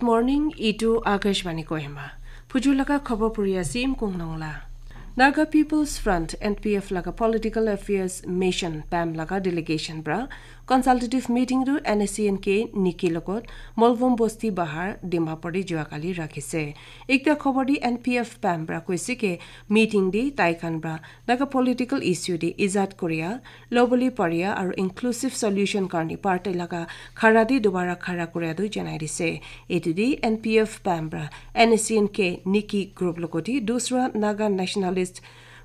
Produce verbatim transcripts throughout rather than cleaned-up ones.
Morning, itu Akashvani Kohima. Phuju laga khobor puri ase Im Kung Nong la. Naga People's Front, N P F laga Political Affairs Mission, pam laga delegation pra consultative meeting tu N S C N K Niki logot Molvom Bosti Bahar, Dimapur te jua kali rakhise. Ekta khobor di N P F pam pra koise ke meeting di tai khan pra Naga political issue di ijat koria, loboli paria aru inclusive solution karni party laga khara di dobara khara koria tu janai dise. Etu di N P F pam pra N S C N K Niki group logoti dusra Naga nationalist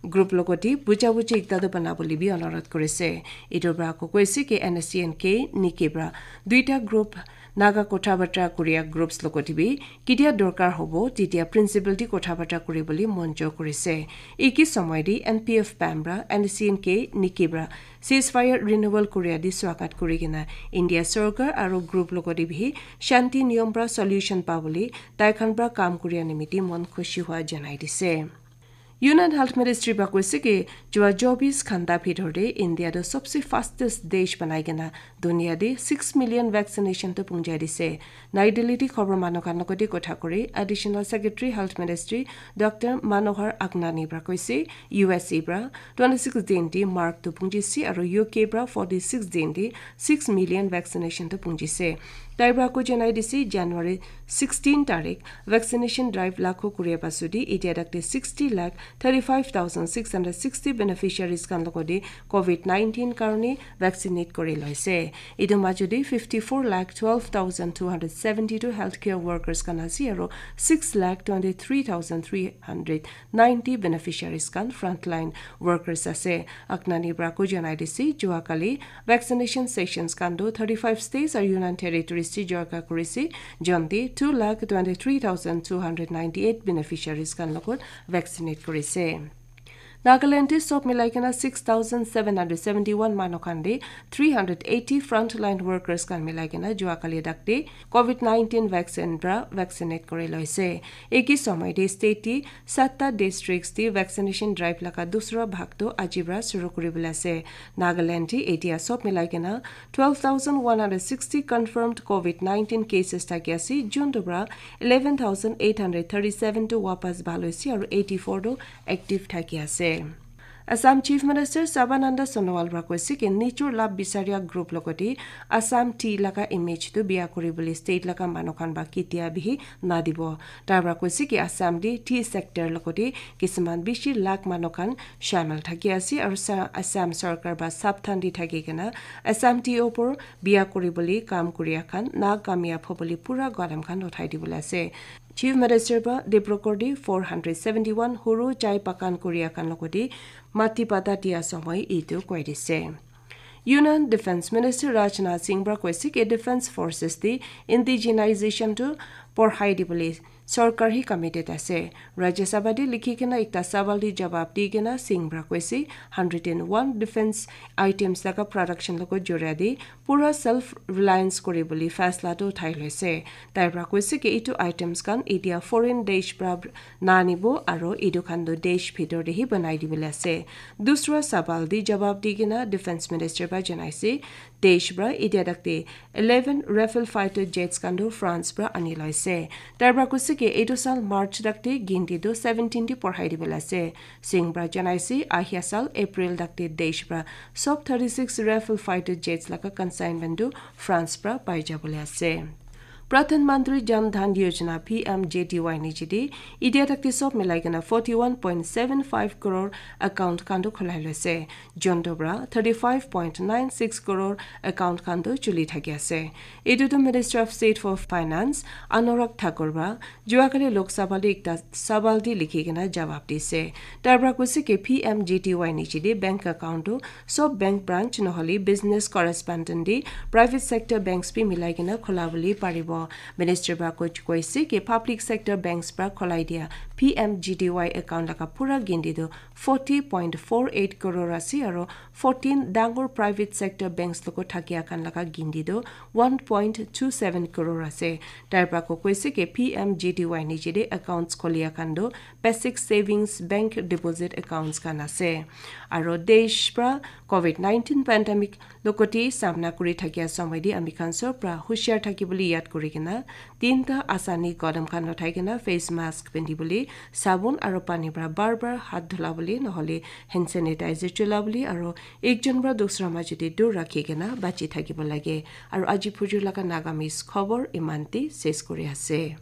group logoti buja buji ekta tu bana boli bi onurodh korise. Etu pra ko koise ke N S C N K Niki pra duita group Naga kotha batra koria groups logoti bi ketia dorkar hobo, tetia principle di kotha batra kuri boli mon jo korise. Iki somoy di N P F pam pra N S C N K Niki pra ceasefire renewal koria di swagat kuri kena India sorkar aru group logoti bi shanti niyom pra solution pa boli tai khan pra kam koria nimiti mon khushi hua janai dise. Union Health Ministry pra koise ki jua chobis ghanta bhitor te India tu sobse fastest desh banai kena dunia te six million vaccination tu pungjai dise. Nai Delhi te khobor manu khan logoti kotha kuri Additional Secretary Health Ministry Doctor Manohar Agnani pra koise U S A pra twenty six din te mark tu pungjise aru U K pra forty six din te six million vaccination tu pungjise. Tai pra ko janai dise January sixteen tarik vaccination drive lakho kuria pasudi itia dakte sixty lakh thirty five thousand six hundred sixty beneficiaries khan logoti COVID nineteen karone vaccinate kuri loise. Etu majudi fifty four lakh twelve thousand two hundred seventy two healthcare workers khan ase aru six lakh twenty three thousand three hundred ninety beneficiaries khan frontline workers ase. Agnani pra ko janai dise jua kali vaccination sessions khan tu thirty five states aru Union Territories te jorka kurise. Jonte two lakh twenty three thousand two hundred ninety eight beneficiaries khan logot vaccinate kurise. Nagaland te sob milai kena six thousand seven hundred seventy one manu khan de three hundred eighty frontline workers khan milai kena jua kali dakte COVID nineteen vaccine pra vaccinate kuri loise. Eki somoy te state te satta districts te vaccination drive laga dusra bhag tu aji pra shuru kuri bole ase. Nagaland te etia sob milai kena twelve thousand one hundred sixty confirmed COVID nineteen cases thaki ase, juntu pra eleven thousand eight hundred thirty seven tu wapas bhal hoise aru eighty four tu active thaki ase. Assam Chief Minister Sarbananda Sonowal pra koise ki nijor labh bisaria group logoti Assam tea laga image tu biya kuri bole state laga manu khan ba ketia bihi nadibo. Tai pra koise ki Assam te tea sector logoti kisiman bishi lakh manu khan shamil thaki ase aru sa-, Assam sorkar ba sabdhan di thaki kena Assam tea opor biya kuri bole kam kuria khan na kamyab hobole pura gadam khan uthai dibole ase. Chief Minister ba Dibrugarh di four hundred seventy one huru chai bagan kuria khan logoti mati bata dia somoy etu koi dise. Union Defence Minister Rajnath Singh pra koise ki Defence Forces te indigenization tu porhai dibole sorkar hi committed ase. Rajya Sabha te likhi kena ekta sawal te jawab di kena Singh pra koise hundred and one defence items laga production logot joria di pura self reliance kuri bole faisla tu uthai loise. Tai pra koise ki etu items khan etia foreign desh pra na nibo aru etu khan tu desh bhitor te hi banai dibole ase. Dusra sawal te jawab di kena Defence Minister pra janaise, desh pra etia dakte eleven Rafale fighter jets khan tu France pra ani loise. Tai pra koise ki etu sal March dakte ginti tu seventeen te porhai dibole ase. Singh pra janaise ahia sal April dakte desh pra sob thirty six Rafale fighter jets laga consignment tu France pra pai jabole ase. Pradhan Mantri Jan Dhan Yojana P M J D Y niji di itia dakte sob milai kena forty one point seven five crore account khan tu khulai loise. Juntu pra thirty five point nine six crore account khan tu chuli thaki ase. Etu tu Minister of State for Finance Anurag Thakur pra jua kali Lok Sabha te ekta sawal te likhi kena jawab dise. Tai pra koise ki P M J D Y niji te bank account tu sob bank branch nohole business correspondent te private sector banks bi milai kena khula bole paribo. Minister pra ko-, koise ki public sector banks pra khulai dia P M G D Y account laga pura ginti tu forty point four eight crore ase, aro fourteen dangor private sector banks logo thakia khan laga ginti tu one point two seven crore ase. Tar pra ko koise ke P M G D Y niche de accounts kholia khan tu basic savings bank deposit accounts khan ase. Aro desh pra covid nineteen pandemic logote samna kuri thakia samai de ami khan sob pra hushiar thaki bole yad kuri kena tinta asani kodam khan uthai kena face mask pindi bole, sabun aro pani pra bar bar hath dhula bole, nohole hand sanitizer chula bole, aro ekjon pra dusra majo de dur rakhi kena bachi thakibo lage. Aro aji phujur laga Nagamese khobor imante ses kuri ase.